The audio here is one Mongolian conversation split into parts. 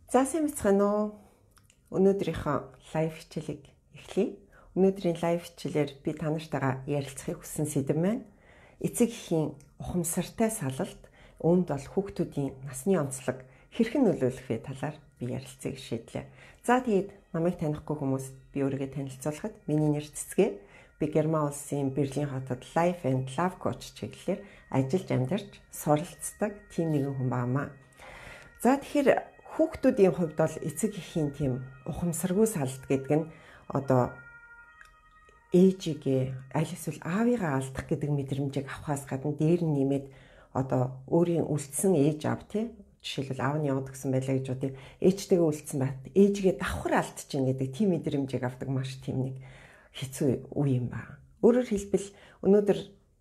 За сайн бацхан уу. Өнөөдрийнхөө лайв хичээлийг эхлэе. Өнөөдрийн лайв хичээлээр би та нартайгаа ярилцахыг хүссэн сэдэв маань эцэг эхийн ухамсартай салалт үүнд бол хүүхдүүдийн насны онцлог хэрхэн нөлөөлөх вэ талаар би ярилцгийг шийдлээ. За тэгээд намайг танихгүй хүмүүс би өөрийгөө танилцуулахад миний нэр Цэцгээ. Би Герман улсын Берлин хотод Life and Love Coach чиглэлээр ажиллаж амьдарч суралцдаг тийм нэгэн хүн баамаа. За тэгэхээр хүүхдүүдийн хувьд бол эцэг эхийн тийм ухамсаргүй салалт гэдэг нь одоо ээжигээ аль эсвэл аавыгаа алдах гэдэг мэдрэмжийг авахаас гадна дээр нь нэмээд одоо өөрийн үлдсэн ээж аав тий жишээлбэл аав нь яваад гисэн байлаа гэж бодъё. Ээжтэйгээ үлдсэн байт ээжигээ давхар алдчихна гэдэг тийм мэдрэмжийг авдаг маш тийм нэг хэцүү үе юм ба. Өөрөөр хэлбэл өнөөдөр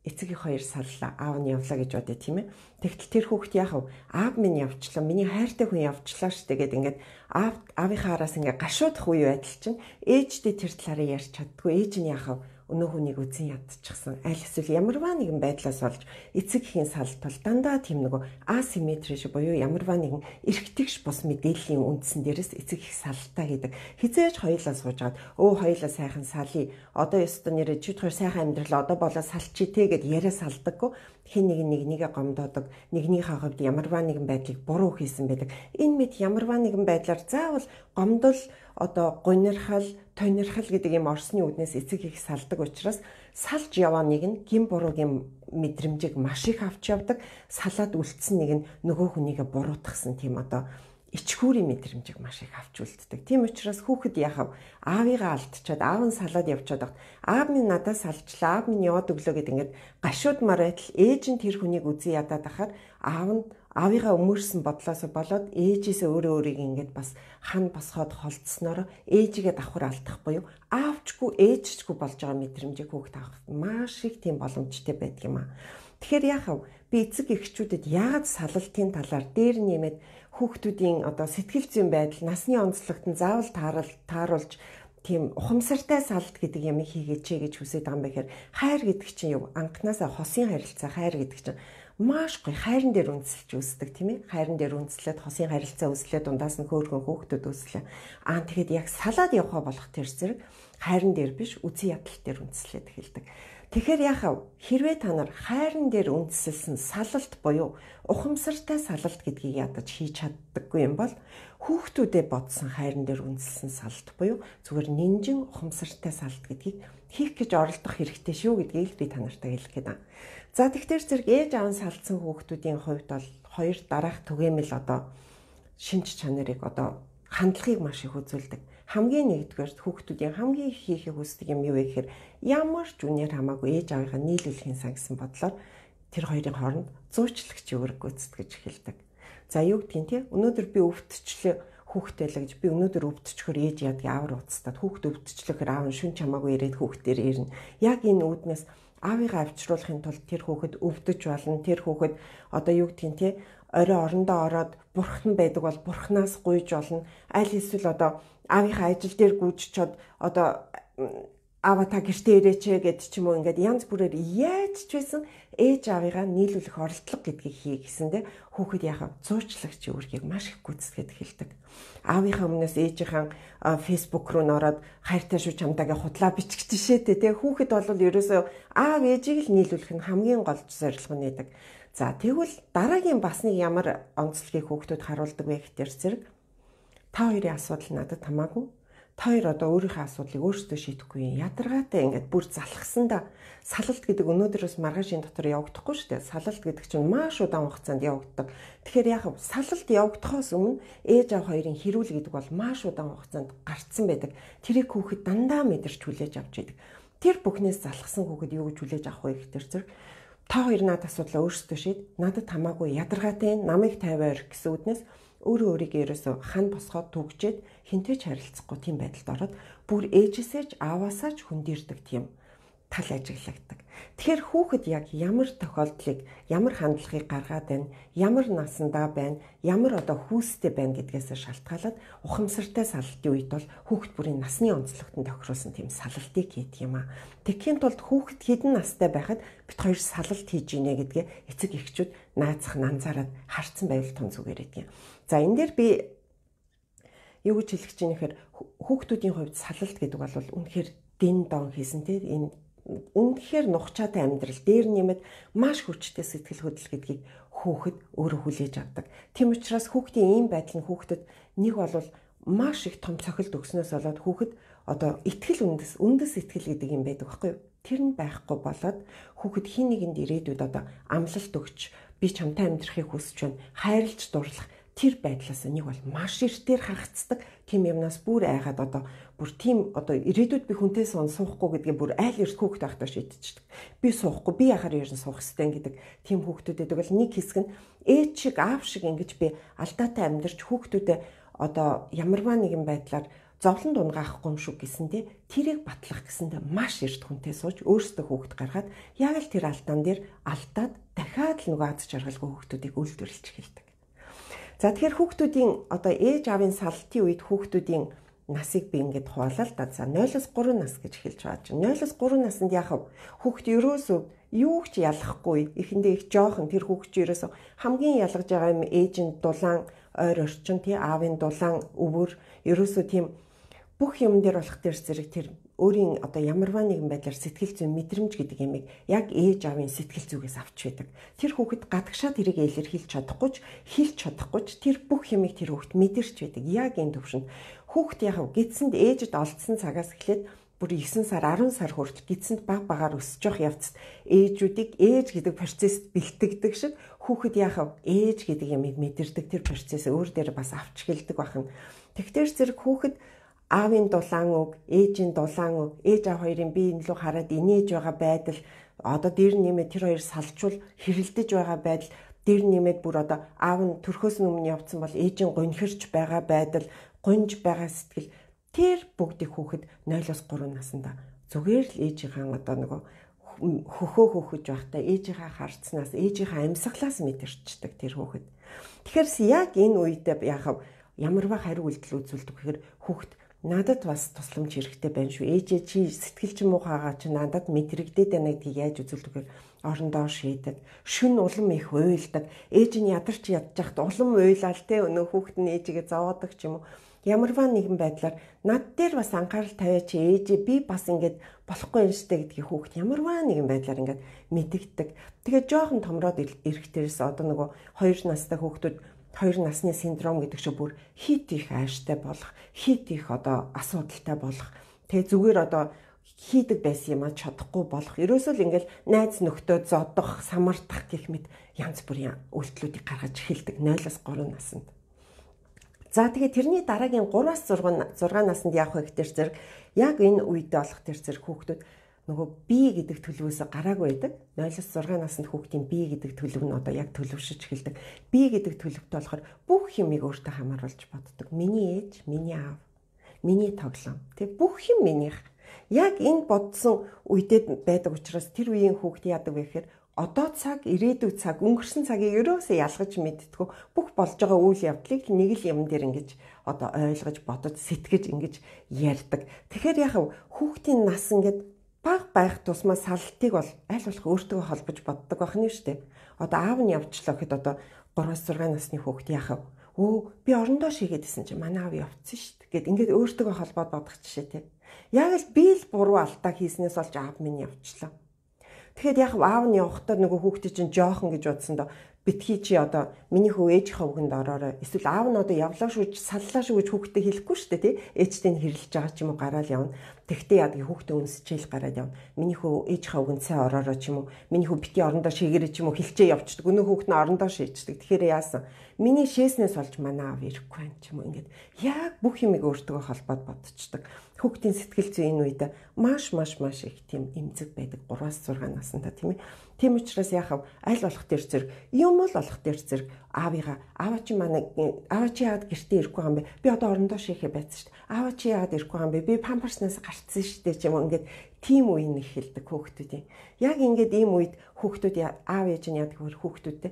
эцэг их хоёр сарлаа аав нь явлаа гэж бодъё тийм ээ. Тэгтэл тэр хүүхд яах вэ? Аав минь явчлаа. Миний хайртай хүн явчлаа штэ гэдэг ингээд аавынхаа араас ингээд гашуудах үе байдал чинь ээжтэй тэр талаараа ярьж чаддгүй. Ээж нь яах вэ? Өнөө хүнийг үзэн ядчихсан. Аль эсвэл ямарваа нэгэн байдлаас болж эцэг эхийн салалт бол дандаа тийм нөгөө асимметри шиг буюу ямарваа нэгэн эргэтгэж бус мэдээллийн үндсэн дээрээс эцэг их салалтаа гэдэг. Хизээж хоёулаа суужгаад хоёулаа сайхан салъя. Одоо ёстой нэрээ чи хоёр сайхан амьдрал одоо болоо салчи те гэд яриа салдаггүй. Хин нэгнийгээ гомдоодог. Нэгнийхээ хувьд ямарваа нэгэн байдлыг буруу хийсэн байдаг. Энэ мэд ямарваа нэгэн байдлаар заавал гомдол одоо гунирхал, тонирхал гэдэг юм орсны үднээс эцэг их салдаг учраас салж яваа нэг нь гин буруугийн мэдрэмжийг маш их авч явдаг. Салаад үлдсэн нэг нь нөгөө хүнийгээ буруутгасан тийм одоо ичхүүрийн мэдрэмжийг маш их авч үлддэг. Тийм учраас хүүхэд яхав аавыгаа алдчихад аав нь салаад явчихад багт аав минь надаас салжлаа, аав минь яваад өглөө гэд ингээд гашуудмаар байтал ээж нь тэр хүнийг үзэн ядаад ахаар аав нь аавыгаа өмөрсөн бодлоос болоод ээжээсээ өөрийг ингээд бас хан босгоод холдсноор ээжигээ давхар алдах буюу аавчгүй ээжчгүй болж байгаа мэдрэмжийг хүүхэд авах маш их тийм боломжтой байдаг юм аа. Тэгэхээр яахав би эцэг эхчүүдэд яагаад салалтын талаар дээр нэмээд хүүхдүүдийн одоо сэтгэл зүйн байдал насны онцлогт нь заавал тааруулж тийм ухамсартай салалт гэдэг юм хийгээч гэж хүсэж байгаа юм бэхээр хайр гэдэг чинь юу анханасаа хосын харилцаа хайр гэдэг чинь маш гоё хайран дээр үндэслэж үүсдэг тийм ээ. Хайран дээр үндэслээд хосын харилцаа үүслээд дундаас нь хөөрхөн хүүхдүүд үүслээ. Тэгэхээр яг салаад явхаа болох тэр зэрэг хайран дээр биш үзэн ядал дээр үндэслээд эхэлдэг. Тэгэхээр яхав хэрвээ та нар хайран дээр үндэслсэн салалт буюу ухамсартай салалт гэдгийг ядаж хийж чаддаггүй юм бол хүүхдүүдэд бодсон хайран дээр үндэслсэн салалт буюу зүгээр нинжин ухамсартай салалт гэдгийг хийх гэж оролдох хэрэгтэй шүү гэдгийг би та нартай хэлэх гээд байна. За тэгэхээр зэрэг ээж аав нь салцсан хүүхдүүдийн хувьд бол хоёр дараах түгээмэл одоо шинж чанарыг одоо хандлагыг маш их үзүүлдэг. Хамгийн нэгдүгээр хүүхдүүдийн хамгийн их хийхийг хүсдэг юм юу вэ гэхээр ямар ч үнээр хамаагүй ээж аавынхаа нийлүүлэхийн сан гэсэн бодлоор тэр хоёрын хооронд зуучлагч үүрэг гүйцэтгэж эхэлдэг. За юу гэдгийг тий өнөөдөр би өвдчлээ хүүхдээ л гэж би өнөөдөр өвдчихөр ээж яадгийг аавар уцтаад хүүхд өвдчлөөхөр аав нь шүн чамаагүй ирээд хүүхдээр ирнэ. Яг энэ үүднээс аавыгаа авчруулахын тулд тэр хүүхэд өвдөж болно. Тэр хүүхэд одоо юу гэдгийг тий орой орондоо ороод бурхан байдаг бол бурханаас гуйж болно. Аль эсвэл одоо аавынхаа ажил дээр гүйжчихэд одоо аава та гэртээ ирээч гэд ч юм уу ингээд янз бүрээр яаж ч байсан ээж аавыгаа нийлүүлэх оролдлого гэдгийг хий гэсэндээ хүүхэд яхав зуучлагч үүргийг маш их гүйцэтгэж эхэлдэг. Аавынхаа өмнөөс ээжийнхэн фейсбુક руу нороод хайртай шүү чамдаагийн худлаа бичгэж шээтэй те хүүхэд бол ерөөсөө аав ээжийг л нийлүүлэх нь хамгийн гол зорилго нь байдаг. За тэгвэл дараагийн бас нэг ямар онцлогийг хүүхдүүд харуулдаг вэ гэхээр зэрэг та хоёрын асуудал надад хамаагүй. Та хоёр одоо өөрийнхөө асуудлыг өөрсдөө шийдэхгүй ядаргаатай ингээд бүр залхсандаа салалт гэдэг өнөөдрөөс маргаашийн дотор явагдахгүй шүү дээ. Салалт гэдэг чинь маш удаан хугацаанд явагддаг. Тэгэхээр яг салалт явагдахоос өмнө ээж аав хоёрын хэрүүл гэдэг бол маш удаан хугацаанд гарцсан байдаг. Тэрийг хүүхэд дандаа мэдэрч хүлээж авч идэг. Тэр бүхнээс залхсан хүүхэд юу гэж хүлээж авах вэ гэхээр зэрэг та хоёр надад асуудлаа өөрсдөө шийд. Надад хамаагүй ядаргаатай намайг тавиар гэсэн үднээс өөрөө өөрийгөө ерөөсө хан босгоод түгжээд хинтээч харилцахгүй тийм байдалд ороод бүр ээжээсээ ч ааваасаа ч хүндэрдэг тийм тал ажиглагдаг. Тэгэхээр хүүхэд яг ямар тохиолдлыг, ямар хандлагыг гаргаад байна, ямар насандаа байна, ямар одоо хүүстэй байна гэдгээс шалтгаалаад ухамсартай салалтын үед бол хүүхэд бүрийн насны онцлогтод тохируулсан тийм салтыг хийдэг юм аа. Тэгэхийн тулд хүүхэд хэдэн настай байхад бит хоёр салалт хийж ийнэ гэдгээ эцэг эхчүүд наацхан анзаараад харцсан байвал тун зүгээр гэдэг юм. За энэ дээр би юу гэж хэлэх чинь гэхээр хүүхдүүдийн хувьд салалт гэдэг бол үнэхээр дин дон хийсэн тийм энэ үнэхээр нухчаатай амьдрал дээр нэмээд маш хүчтэй сэтгэл хөдлөл гэдгийг хүүхэд өөрөө хүлээж авдаг. Тийм учраас хүүхдийн ийм байдал нь хүүхдэд нэг бол маш их том цохилт өгснөөс болоод хүүхэд одоо итгэл үндэс итгэл гэдэг юм байдаг байхгүй юу? Тэр нь байхгүй болоод хүүхэд хин нэгэнд ирээдүйд одоо амлалт өгч би чамтай амьдрахыг хүсэж байна. Хайрлж дурлах тэр байдлаас нэг бол маш эртээр хагацдаг. Тим юмнаас бүр айгаад одоо бүр тийм одоо ирээдүйд би хүнтэй суухгүй гэдгийг бүр айл эрт хүүхэд байхдаа шийдчихдэг. Би суухгүй, би яхаар ерэн суух хэрэгтэй гэдэг тийм хүүхдүүдэд бол нэг хэсэг нь ээж шиг аав шиг ингэж би алдаатай амьдарч хүүхдүүдэд одоо ямарваа нэгэн байдлаар зовлон дунгаахгүй юм шүү гэсэндээ тэрийг батлах гэсэндээ маш эрт хүнтэй сууж өөрсдөө хүүхэд гаргаад яг л тэр алдаан дээр алдаад дахиад л нөгөө аз жаргалгүй хүүхдүүдийг үйлдвэрлэж эхэлдэг. За тэгэхээр хүүхдүүдийн одоо ээж аавын салтын үед хүүхдүүдийн насыг би ингээд хуваалаа л да. За 0-3 нас гэж хэлж байгаа чинь 0-3 наснд яхав хүүхд ерөөсөө юу ч ялахгүй эхэндээ их жоохон тэр хүүхд чи ерөөсөө хамгийн ялгаж байгаа юм ээжийн дулаан ойр орчин тий аавын дулаан өвөр ерөөсөө тийм бүх юм дээр болох тэр зэрэг тэр өөрийн одоо ямарваа нэгэн байдлаар сэтгэл зүйн мэдрэмж гэдэг ямиг яг ээж аавын сэтгэл зүгээс авч байдаг. Тэр хүүхэд гадагшаа тэрийг илэрхийлж чадахгүй ч хэлж чадахгүй ч тэр бүх юмыг тэр хүүхэд мэдэрч байдаг. Яг энэ төвшөнд хүүхэд яг гидсэнд ээжэд олдсон цагаас эхлээд бүр 9 сар 10 сар хүртэл гидсэнд баг багаар өсөж явах явцад ээжүүдийг ээж гэдэг процессд бэлтгэдэг шиг хүүхэд яг ээж гэдэг ямиг мэдэрдэг тэр процессыг өөр дээр бас авч эхэлдэг бахан. Тэгтэр зэрэг хүүхэд аавын дулаан үг, ээжийн дулаан үг, ээж аав хоёрын бие илүү хараад инээж байгаа байдал, одоо дээр нэмээд тэр хоёр салжуул хэрэлдэж байгаа байдал, дээр нэмээд бүр одоо аав нь төрхөөс өмнө явцсан бол ээжийн гонхирч байгаа байдал, гонж байгаа сэтгэл тэр бүгдийг хүүхэд 0-3 наснда зүгээр л ээжийнхээ одоо нөгөө хөхөө хөхөж байхдаа ээжийнхээ харцнаас, ээжийнхээ амьсгалаас мэдэрчдэг тэр хүүхэд. Тэгэхээр яг энэ үедээ ямарваа хариу үйлдэл үзүүлдэг гэхээр хүүхэд надад бас тусламж хэрэгтэй байна шүү. Ээжээ чи сэтгэл ч муухайгаа чи надад мэдрэгдээд байна гэдгийг яаж үзүүлдэг гэхээр орондоо шийдэг. Шүн улам их уйлдаг. Ээж нь ядарч ядчих улам уйлал те өнөө хүүхэд нь ээжигээ зовоодаг ч юм уу. Ямарваа нэгэн байдлаар над дээр бас анхаарал тавиач ээжээ би бас ингэж болохгүй юм штэ гэдгийг хүүхэд ямарваа нэгэн байдлаар ингэж мэдэгдэг. Тэгээд жоохон томроод ирэхтэрээс одоо нөгөө 2 настай хүүхдүүд 2 насны синдром гэдэг шиг бүр хит их ааштай болох, хит их одоо асуудалтай болох. Тэгээ зүгээр одоо хийдэг байсан юм а чадахгүй болох. Ерөөсөө л ингээл найз нөхдөө зодох, самардах гэх мэт янз бүрийн үйлдэлүүдийг гаргаж эхэлдэг 0-3 наснд. За тэгээ тэрний дараагийн 3-6 наснд явах ихтэй зэрэг яг энэ үедээ болох тэр зэрэг хүүхдүүд нөгөө бие гэдэг төлөвөөс гараагүй байдаг. 0-6 наснд хүүхдийн бие гэдэг төлөв нь одоо яг төлөвшөж эхэлдэг. Бие гэдэг төлөвтэй болохоор бүх юмыг өөртөө хамааруулж боддог. Миний ээж, миний аав, миний тоглоом. Тэг бүх юм минийх. Яг энэ бодсон үедээ байдаг учраас тэр үеийн хүүхд яадаг вэ гэхээр одоо цаг, ирээдүйд цаг, өнгөрсөн цагийг ерөөсөө ялгаж мэддэггүй бүх болж байгаа үйл явдлыг нэг л юм дээр ингэж одоо ойлгож, бодож, сэтгэж ингэж ярьдаг. Тэгэхээр яг хүүхдийн нас ингээд баг байх тусмаа салтыг бол аль болох өөртөө холбож боддог байх нь шүү дээ. Одоо аав нь явчлаа гэхэд одоо 3-6 насны хүүхд яхав. Би орондоо шигээдсэн чинь манай аав явцсан шүү дээ. Гэт ингээд өөртөө холбоод бодох жишээ те. Яг л би л буруу алдаа хийснээс болж аав минь явчлаа. Тэгэхэд яг аав нь явахдаа нөгөө хүүхдээ чинь жоохон гэж бодсон доо битгий чи одоо миний хүү ээжийнхээ үгэнд ороорой. Эсвэл аав нь одоо явлаа шүү гэж саллаа шүү гэж хүүхдээ хэлэхгүй шүү дээ тий. Ээжтэй нь хэрэлж байгаа ч юм уу гараал явна. Тэгтээ яадаг хүүхдээ үнсчээл гараад явна. Миний хүү ээжийнхээ үгэнд сайн ороорой ч юм уу. Миний хүү бити орондоо шигэрэй ч юм уу хэлчээ явчихдаг. Өнөө хүүхд нь орондоо шийдчихдэг. Тэгэхээр яасан? Миний шээснээс болж манай аав ирэхгүй байх ч юм уу. Ингээд яг бүх юмыг өөртөө холбоод бодчихдаг. Хүүхдийн сэтгэл зүй энэ үед маш их тийм эмзэг байдаг 3-6 наснда тийм ээ. Тийм учраас яхав аль болох тэр зэрэг юм л болох тэр зэрэг аава чи яагаад гэртээ ирэхгүй юм бэ? Би одоо орондоо шийхэ байцсан шүү дээ. Аава чи яагаад ирэхгүй юм бэ? Би памперснаас гарцсан шүү дээ ч юм уу. Ингээд тийм үе нь эхэлдэг хүүхдүүдийн. Яг ингээд ийм үед хүүхдүүд аав ээж нь яадаг вэ? Хүүхдүүдтэй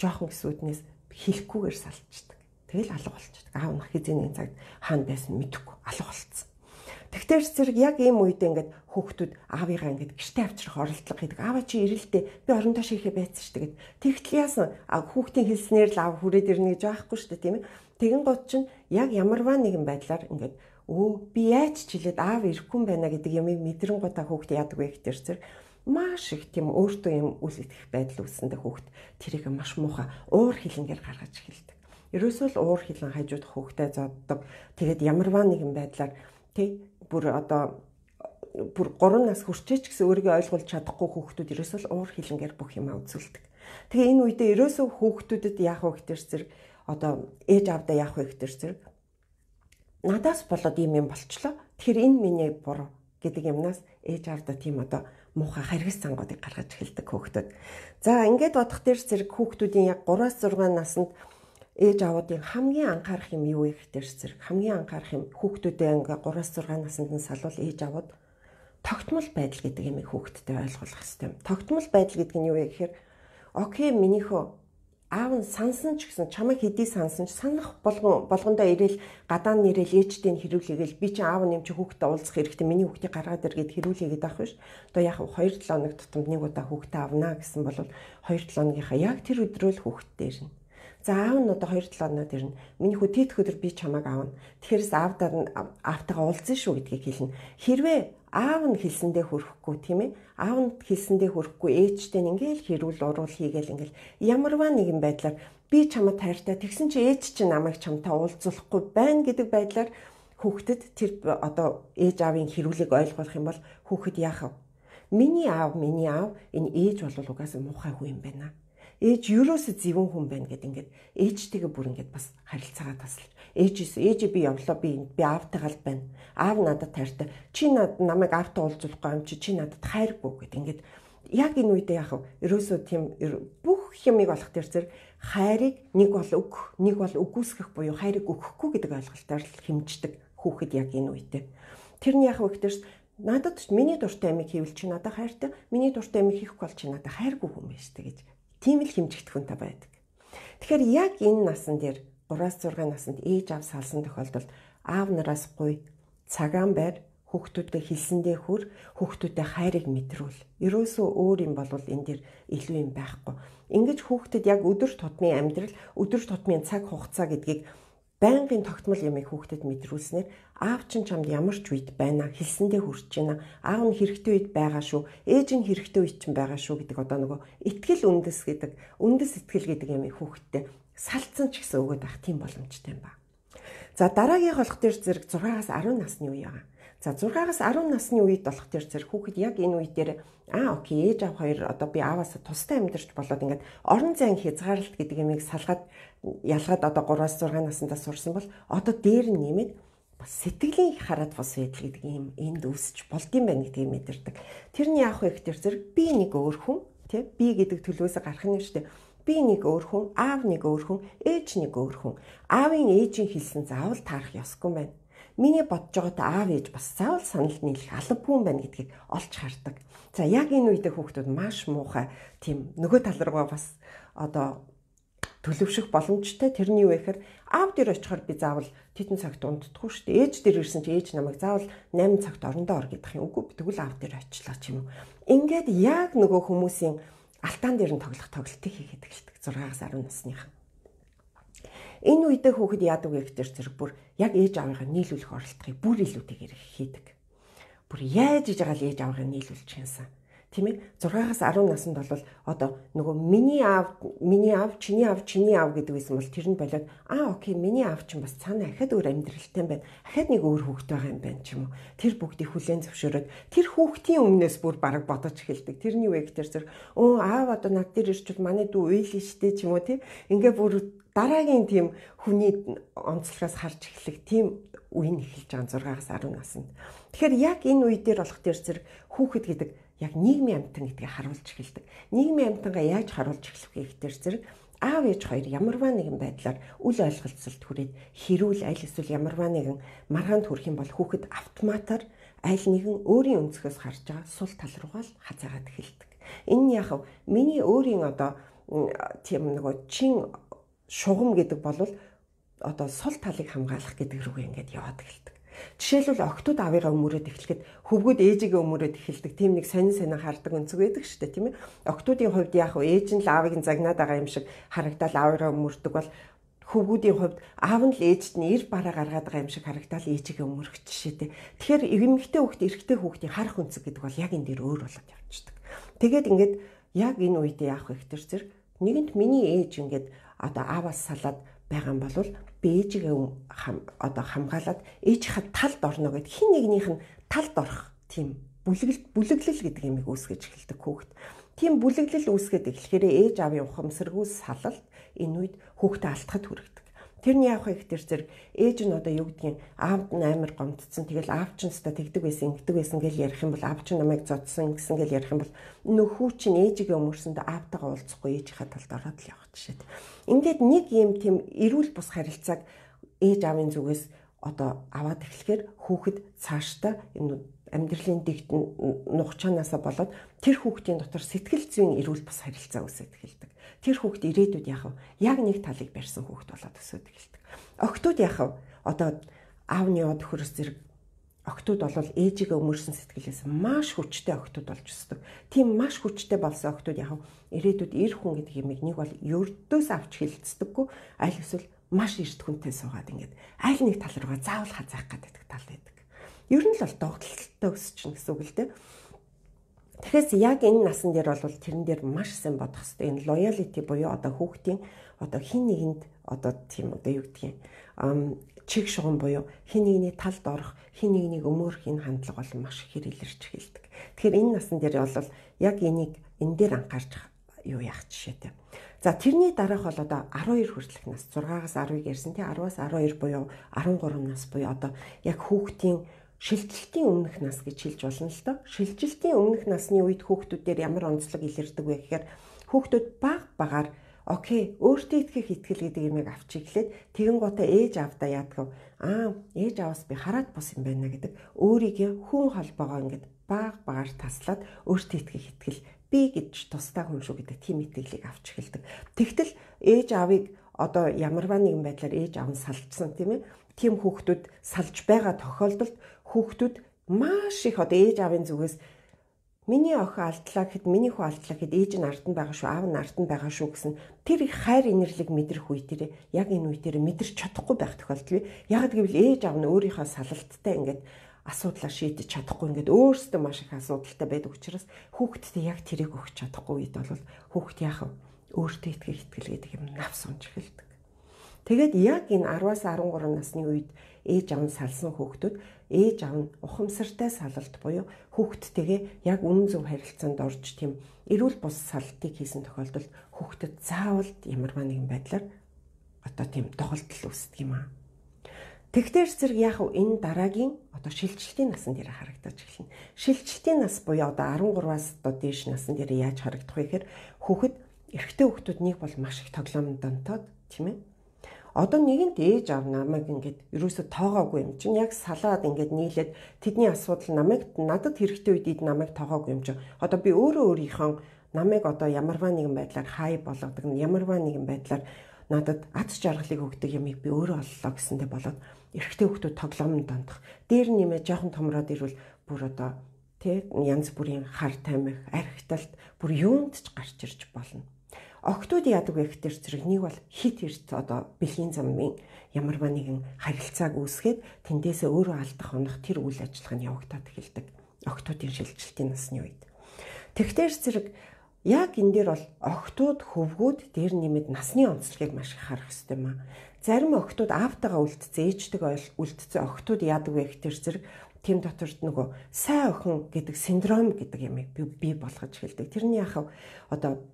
жоохон гэсүүднээс хэлэхгүйгээр салчдаг. Тэгэл алга болчихдаг. Аав нь хизээний цагт хаана байсан мэдэхгүй алга болцсон. Тэгтэр зэрэг яг ийм үед ингээд хүүхдүүд аавыгаа ингээд гэртээ авчрах оролдлого хийдэг. Аава чи ирэлтээ би орондоо шийхэ байцсан шүү дээ. Тэгтэл яасан хүүхдийн хэлснээр л аав хүрээд ирнэ гэж байхгүй шүү дээ тийм ээ. Тэгэн гот чинь яг ямарваа нэгэн байдлаар ингээд би яаж ч хэлээд аав ирэхгүй юм байна гэдэг юмыг мэдрэнгуудаа хүүхд яадаг вэ гэхээр зэрэг маш их тийм өөртөө юм үл итгэх байдал үүсэндээ хүүхд тэрийг маш муухай уур хилэнгээр гаргаж эхэлдэг. Ерөөсөө л уур хилэн хажуудах хүүхдэд зоддог. Тэгээд ямарваа нэгэн байдлаар бүр 3 нас хүрчээч гэсэн өөрийгөө ойлгуулж чадахгүй хүүхдүүд ерөөсөө л уур хилэнгээр бүх юмаа үзүүлдэг. Тэгээ энэ үедээ ерөөсөө хүүхдүүдэд яах вэ гэхээр зэрэг ээж аавдаа яах вэ гэхээр зэрэг надаас болоод юм болчлоо. Тэгэхээр энэ миний буруу гэдэг юмнаас ээж аавдаа тийм муухай харгас цангуудыг гаргаж эхэлдэг хүүхдүүд. За ингээд бодох дээр зэрэг хүүхдүүдийн яг 3-6 наснд ээж аавуудын хамгийн анхаарах юм юу вэ гэхээр зэрэг хамгийн анхаарах юм хүүхдүүдээ ингээ 3-6 наснд нь салвал ээж аавууд тогтмол байдал гэдэг юмыг хүүхдэд ойлгуулах хэрэгтэй. Тогтмол байдал гэдэг нь юу вэ гэхээр окей минийхөө аав нь сансан ч гэсэн чамайг хэдий сансан ч санах болгондоо ирээл гадаа нь ирээл ээжтэй нь хэрүүлээгээл би чинь аав нь юм чи хүүхдэд уулзах хэрэгтэй миний хүүхдийг гаргаад иргээд хэрүүлээгээд авах биш. Одоо яг 2-7 хоног тутамд нэг удаа хүүхдэд авнаа гэсэн бол 2-7 хоногийнхаа яг тэр өдрөө л хүүхдэд ирнэ. За аав нь одоо 2-7 хоноод ирнэ. Миний хүү тэтгэх өдөр би чамайг аавна. Тэгэхээр аавтайгаа уулзсан шүү гэдгийг хэлнэ. Хэрвээ аав нь хэлсэндээ хүрэхгүй тийм ээ. Аав нь хэлсэндээ хүрэхгүй ээжтэй нь ингээл хэрүүл уруул хийгээл ингээл ямарваа нэгэн байдлаар би чамд хайртай тэгсэн чи ээж чинь намайг чамтай уулзуулахгүй байна гэдэг байдлаар хүүхдэд тэр ээж аавын хэрүүлийг ойлгуулах юм бол хүүхэд яах вэ? Миний аав энэ ээж бол угаасаа муухай хүн юм байна. Ээж юурөөсө зөвөн хүн байна гэд ингээд ээжтэйгээ бүр ингээд бас харилцаагаа таслаж ээж би явлаа би аавтайгаа л байна. Аав надад хайртай. Чи намайг аавтай уулзуулахгүй юм чи надад хайргүй гэд ингээд яг энэ үедээ яах вэ? Ерөөсөө тийм бүх юмыг олох тэр зэрэг хайрыг нэг бол үгүйсгэх буюу хайрыг өгөхгүй гэдэг ойлголтоор л хэмждэг хүүхэд яг энэ үедээ. Тэр нь яах вэ гэхээр надад миний дуртай амиг хийвэл чи надад хайртай. Миний дуртай амиг хийхгүй бол чи надад хайргүй хүн байж тээ гэж. Тийм л хэмжигдэх хүнтэй байдаг. Тэгэхээр яг энэ насан дээр 3-6 наснд ээж аав салсан тохиолдолд аав нараас гуй цагаан байр хүүхдүүдэд хэлсэндээ хүр хүүхдүүдэд хайрыг мэдрүүл. Ерөөсөө өөр юм болвол энэ дэр илүү юм байхгүй. Ингэж хүүхдэд яг өдөр тутмын амьдрал, өдөр тутмын цаг хугацаа гэдгийг байнгын тогтмол юмыг хүүхдэд мэдрүүлснээр аав чинь чамд ямар ч үед байна хэлсэндээ хүрч байна. Аав нь хэрэгтэй үед байгаа шүү. Ээж нь хэрэгтэй үед чинь байгаа шүү гэдэг нөгөө итгэл үндэс итгэл гэдэг юмыг хүүхдэд салцсан ч гэсэн өгөөд авах тийм боломжтой юм ба. За дараагийн болох дээр зэрэг 6-аас 10 насны үе байгаа. За 6-аас 10 насны үед болох дээр зэрэг хүүхэд яг энэ үе дээр окей ээж аав хоёр би ааваас тустай амьдарч болоод ингээд орон зайн хязгаарлалт гэдэг юмыг ялгаад 3-аас 6 наснда сурсан бол дээр нь нэмээд бас сэтгэлийн хараад бус байдал гэдэг юм энд үүсч болдсон байна гэдгийг мэдэрдэг. Тэрний яах вэ гэхээр зэрэг би нэг өөр хүн би гэдэг төлөвөөс гарах нь шүү дээ. Би нэг өөр хүн, аав нэг өөр хүн, ээж нэг өөр хүн. Аавын ээжийн хэлсэн заавал таарах ёсгүй байна. Миний бодож байгаатай аав ээж бас заавал санал нийлэх албагүй юм байна гэдгийг олж хардаг. За яг энэ үедээ хүүхдүүд маш муухай тийм нөгөө тал руугаа бас төлөвшөх боломжтой. Тэрний юу вэ гэхээр аав дээр очихоор би заавал тэтэн цагт унтдаггүй шүү дээ. Ээж дээр ирсэн чи ээж намайг заавал 8 цагт орондоо ор гэдэг юм. Үгүй тэгвэл аав дээр очлаа ч юм уу. Ингээд яг нөгөө хүмүүсийн алтаан дээр нь тоглолтыг хийгээд эхэлдэг 6-аас 10 насныхан. Энэ үедээ хүүхэд яадаг вэ гэхээр зэрэг бүр яг ээж аавынхаа нийлүүлэх оролдогыг бүр илүүтэйгээр хийдэг. Бүр яаж иж байгаа л ээж аавынхаа нийлүүлж хянсан. Тийм ээ 6-аас 10 наснд бол нөгөө миний аав чиний аав гэдэг байсан бол тэр нь болоод окей миний аав чинь бас цаана ахад өөр амьдралтай юм байна. Ахад нэг өөр хүүхэд байгаа юм байна ч юм уу. Тэр бүгдийг хүлээн зөвшөөрөөд тэр хүүхдийн өмнөөс бүр бараг бодож эхэлдэг. Тэрний үе гэхээр зэрэг аав над дээр ирчвэл манай дүү уйлэн штэ ч юм уу тийм. Ингээ бүр дараагийн тийм хүний онцлогоос харж эхлэх тийм үе нь эхэлж байгаа 6-аас 10 наснд. Тэгэхээр яг энэ үе дээр болох дээр зэрэг хүүхэд гэдэг яг нийгмийн амьтан гэдгийг харуулж эхэлдэг. Нийгмийн амьтангаа яаж харуулж эхлэх вэ гэхээр зэрэг аав ээж хоёр ямарваа нэгэн байдлаар үл ойлголцолд хүрээд хэрүүл аль эсвэл ямарваа нэгэн маргаанд хүрэх юм бол хүүхэд автоматар аль нэгэн өөрийн өнцгөөс харж байгаа сул тал руугаа л хазаагаад эхэлдэг. Энэ нь яг миний өөрийн тийм нөгөө чин шугам гэдэг бол сул талыг хамгаалах гэдэг рүүгээ ингээд яваад эхэлдэг. Жишээлбэл октод аавыгаа өмөрөөд эхлэхэд хөвгүүд ээжигээ өмөрөөд эхэлдэг. Тийм нэг сонин хардаг өнцөг байдаг шүү дээ, тийм ээ. Октодын хувьд яах вэ? Ээж нь л аавыг загнаад байгаа юм шиг харагдаад аавыгаа өмөрдөг бол хөвгүүдийн хувьд аав нь л ээжд нь эр бараа гаргаад байгаа юм шиг харагдал ээжигээ өмөрөх жишээ тий. Тэгэхээр эмэгтэй хүүхд эрэгтэй хүүхдийн харах үнцэг гэдэг бол яг энэ дээр өөр болоод явчихдаг. Тэгээд ингээд яг энэ үед яах вэ гэхээр зэрэг нэгэнт миний ээж ингээд одоо ааваас салаад байгаа юм бол би ээжигээ хамгаалаад ээжийнхээ талд орно гэд хин нэгнийх нь талд орох тийм бүлэглэл гэдэг юмыг үүсгэж эхэлдэг хүүхэд. Тийм бүлэглэл үүсгээд эхлэхээр ээж аавын ухамсаргүй салалт энэ үед хүүхдээ алдахад хүргэдэг. Тэрний яах вэ гэхээр зэрэг ээж нь одоо юу гэдгийг аавд нь амар гомдсон. Тэгэл аав ч нэстэ тэгдэг байсан, ингэдэг байсан гэж ярих юм бол аав ч намайг зодсон гэсэн гэж ярих юм бол нөхүү чинь ээжигээ өмөрсөндөө аавтайгаа уулзахгүй ээжийнхээ талд ороод л явах жишээ. Ингээд нэг юм тийм эрүүл бус харилцааг ээж аавын зүгээс одоо аваад эхлэхээр хүүхэд цаашдаа энэ амьдралын дэгт нухчаанаасаа болоод тэр хүүхдийн дотор сэтгэл зүйн эрүүл бус харилцаа үүсэж эхэлдэг. Тэр хүүхд ирээдүйд яах вэ? Яг нэг талыг барьсан хүүхд болоод өсөж эхэлдэг. Охтууд яах вэ? Одоо аавны од хөрс зэрэг охтууд бол ээжигээ өмөрсөн сэтгэлээс маш хүчтэй охтууд болж өсдөг. Тийм маш хүчтэй болсон охтууд яах вэ? Ирээдүйд эр хүн гэдэг юмыг нэг бол ердөөс авч хилцдэггүй, аль эсвэл маш эрт хүнтэй суугаад ингээд аль нэг тал руугаа заавал хазаах гэдэг тал байдаг. Ер нь л бол догтлолтой өсчихнө гэсэн үг л дээ. Тэгэхээр яг энэ насан дээр бол тэрэн дээр маш сайн бодох хэрэгтэй. Энэ loyalty буюу одоо хүүхдийн одоо хин нэгэнд одоо тийм одоо юу гэдгийг чиг шугам буюу хин нэгний талд орох, хин нэгнийг өмөрөх энэ хандлага бол маш их илэрч эхэлдэг. Тэгэхээр энэ насан дээр бол яг энийг энэ дээр анхаарч юу яах жишээтэй. За тэрний дараах бол одоо 12 хүртэлх нас 6-аас 10-ыг ярьсан тий 10-аас 12 буюу 13 нас буюу одоо яг хүүхдийн шилжилтийн өмнөх нас гэж хэлж болно л доо. Шилжилтийн өмнөх насны үед хүүхдүүд дээр ямар онцлог илэрдэг вэ гэхээр хүүхдүүд багаар окей өөртөө итгэх итгэл гэдэг юмыг авч иглээд тэгэн гутаа ээж аавдаа яадаг ээж ааваас би хараад бус юм байна гэдэг өөрийгөө хүн холбоогоо ингээд багаар таслаад өөртөө итгэх итгэл би гэж тусдаа хүн шүү гэдэг тийм итгэлийг авч эхэлдэг. Тэгтэл ээж аавыг одоо ямарваа нэгэн байдлаар ээж аав нь салжсан тийм ээ. Тийм хүүхдүүд салж байгаа тохиолдолд хүүхдүүд маш их одоо ээж аавын зүгээс миний охин алдлаа гэхэд миний хүү алдлаа гэхэд ээж нь ард нь байгаа шүү, аав нь ард нь байгаа шүү гэсэн тэр их хайр инэрлэг мэдрэх үе дээр яг энэ үе дээр мэдэрч чадахгүй байх тохиолдол бий. Яг гэвэл ээж аав нь өөрийнхөө салалттай ингээд асуудлаа шийдэж чадахгүй ингээд өөрсдөө маш их асуудалтай байдаг учраас хүүхдтэй яг тэрийг өгч чадахгүй үед бол хүүхд яах вэ? Өөртөө итгэх итгэл гэдэг юм навс унж эхэлдэг. Тэгээд яг энэ 10-аас 13 насны үед ээж аав нь салсан хүүхдүүд ээж аав нь ухамсартай салалт буюу хүүхдтэйгээ яг үнэн зөв харилцаанд орж тийм эрүүл бус салтыг хийсэн тохиолдолд хүүхдэд заавал ямарваа нэгэн байдлаар одоо тийм доголдол үүсдэг юм аа. Тэгтэр зэрэг яг энэ дараагийн одоо шилжилтийн насан дээр харагдаж эхэлнэ. Шилжилтийн нас буюу одоо 13-аас одоо дээш насан дээр яаж харагдах вэ гэхээр хүүхэд эрэгтэй хүүхдүүд нэг бол маш их тоглоомд донтоод тийм ээ. Одоо нэгэнт ээж аав намайг ингээд ерөөсө тоогоогүй юм чинь яг салаад ингээд нийлээд тэдний асуудал надад хэрэгтэй үед намайг тоогоогүй юм чинь одоо би өөрөө өөрийнхөө намайг одоо ямарваа нэгэн байдлаар хай болгодог ямарваа нэгэн байдлаар надад аз жаргалыг өгдөг юмыг би өөрөө оллоо гэсэндээ болоод эрэгтэй хүүхдүүд тоглоомд дондох дээр нэмээ жоохон томроод ирвэл бүр одоо тэг янз бүрийн хар тамхи архиталт бүр юунд ч гарч ирж болно. Охтууд яадаг вэ гэхээр зэрэг нэг бол хит эрт одоо бэлгийн замын ямарваа нэгэн харилцааг үүсгээд тэндээсээ өөрөө алдах унах тэр үйл ажиллагаа нь явагдаад эхэлдэг. Охтуудын шилжилтийн насны үед. Тэгтэр зэрэг яг энэ дээр бол охтууд хөвгүүд дээр нэмээд насны онцлогийг маш их харах хэрэгтэй юм аа. Зарим охтууд аавтайгаа үлдсэн, ээжтэйгээ үлдсэн охтууд яадаг вэ гэхээр зэрэг тэм доторд нөгөө сайн охин гэдэг синдром гэдэг ямыг бий болгож эхэлдэг. Тэрний яхав одоо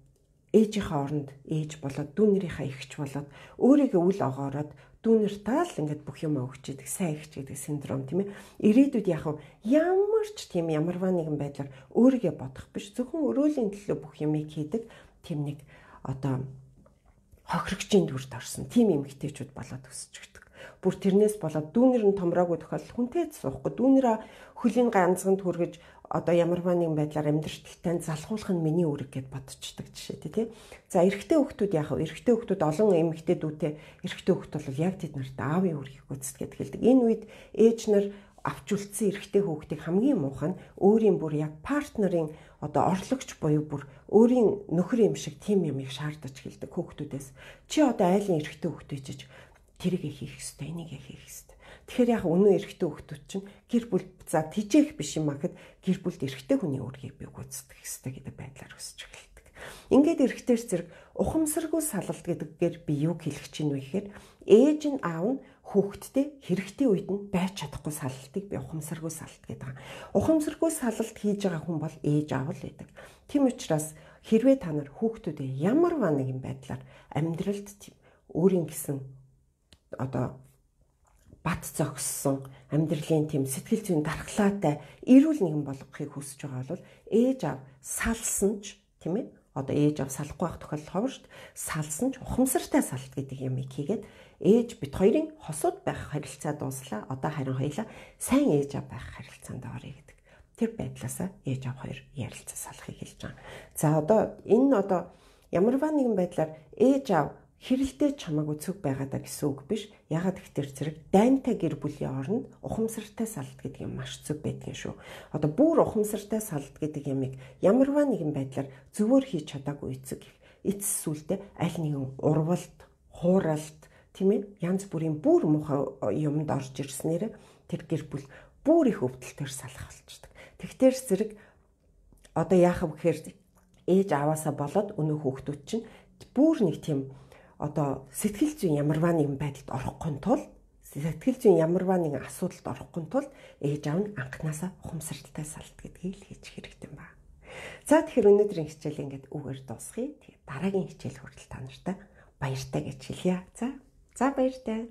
ээжийнхээ оронд ээж болоод дүүнэрийнхээ эгч болоод өөрийгөө үл огоороод дүүнэртээ л ингээд бүх юм өгч идэг сайн эгч гэдэг синдром тийм ээ. Ирээдүйд яг ямар ч тийм ямарваа нэгэн байдлаар өөрийгөө бодох биш зөвхөн өрөөлийн төлөө бүх юмыг хийдэг тийм нэг одоо хохирогчийн дүрд орсон тийм эмэгтэйчүүд болоод өсөж өгдөг. Бүр тэрнээс болоод дүүнэр нь томроогүй тохиолдол хүнтэй суухгүй дүүнэрээ хөлийн ганцганд хүргэж одоо ямарваа нэгэн байдлаар амьдралттай залхуулах нь миний үүрэг гэд бодчихдаг жишээтэй тий. За эрэгтэй хүүхдүүд яах вэ? Эрэгтэй хүүхдүүд олон эмэгтэйдүүтэй эрэгтэй хүүхд бол яг тэд нарт аавын үүргийг гүйцэтгээд хэлдэг. Энэ үед ээж нар авч үлдсэн эрэгтэй хүүхдийг хамгийн муухай нь өөрийн бүр яг партнерын одоо орлогч буюу бүр өөрийн нөхөр юм шиг тийм юмыг шаардаж хэлдэг хүүхдүүдээс. Чи одоо айлын эрэгтэй хүүхдээ чиж тэрийг хийх ёстой, энийг хийх ёстой. Тэгэхээр яг өнөө эрэгтэй хүүхдүүд чинь гэр бүл за тижээх биш юм ахэд гэр бүлд эрэгтэй хүний үүргийг би гүйцэтгэх ёстой гэдэг байдлаар өсөж эхэлдэг. Ингээд эрэгтэйч зэрэг ухамсаргүй салалт гэдгээр би юу хэлэх чинь вэ гэхээр ээж нь аав нь хүүхдтэй хэрэгтэй үед нь байж чадахгүй салалтыг би ухамсаргүй салалт гэдэг. Ухамсаргүй салалт хийж байгаа хүн бол ээж аав л байдаг. Тийм учраас хэрвээ та нар хүүхдүүдэд ямар нэгэн байдлаар амьдралд өөрийн гэсэн одоо бат зогссон амьдралын тийм сэтгэл зүйн дархлаатай эрүүл нэгэн болгохыг хүсэж байгаа бол ээж аав салсан ч тийм ээ одоо ээж аав салахгүй байх тохиолдол ховор шүү дээ. Салсан ч ухамсартай салалт гэдэг юмыг хийгээд ээж бит хоёрын хосууд байх харилцаа дууслаа. Одоо харин хоёлаа сайн ээж аав байх харилцаанд орё гэдэг. Тэр байдлаасаа ээж аав хоёр ярилцаа салахыг хэлж байгаа. За одоо энэ одоо ямарваа нэгэн байдлаар ээж аав хэрэлдээ чамаагүй цөг байгаадаа гэсэн үг биш. Ягаад гэхээр зэрэг дайнтай гэр бүлийн оронд ухамсартай салалт гэдэг юм маш зөв байдгийн шүү. Одоо бүр ухамсартай салалт гэдэг юмыг ямарваа нэгэн байдлаар зөвөр хийж чадаагүй эцэг эцэс сүлдээ аль нэгэн урвалт, хууралт, тийм ээ янз бүрийн бүр муухай юмд орж ирснээр тэр гэр бүл бүр их өвдөлтөөр салах болчихдог. Тэгтэр зэрэг одоо яах вэ гэхээр ээж аваасаа болоод өнөө хүүхдүүд чинь бүр нэг тийм одоо сэтгэл зүйн ямарваа нэгэн байдалд орохгүй тул сэтгэл зүйн ямарваа нэгэн асуудалд орохгүй тул ээж аав нь анханасаа ухамсартай салалт гэдгийг л хийж хэрэгтэй юм байна. За тэгэхээр өнөөдрийн хичээл ингээд үгээр дуусгая. Тэгээд дараагийн хичээл хүртэл та нартай баяртай гэж хэлье. За баяртай.